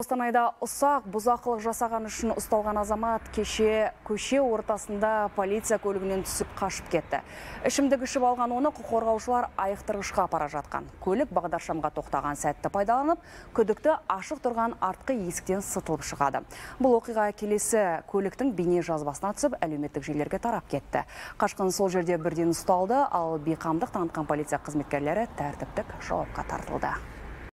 Қостанайда ұсақ бұзақылық жасаған үшін ұсталған азамат кеше көше ортасында полиция көлігінен түсіп қашып кетті. Ішімдік ішіп алған оны құқық қорғаушылар айықтырғышқа апара жатқан. Көлік бағдаршамға тоқтаған сәтті пайдаланып, күдікті ашық тұрған артқы есіктен сытылып шығады. Бұл оқиға келесі көліктің бейне жазбасына түсіп, әлеуметтік желілерге тарап кетті. Қашқын сол жерде бірден ұсталды, ал бейқамдық танытқан полиция қызметкерлері тәртіптік жауапқа тартылды.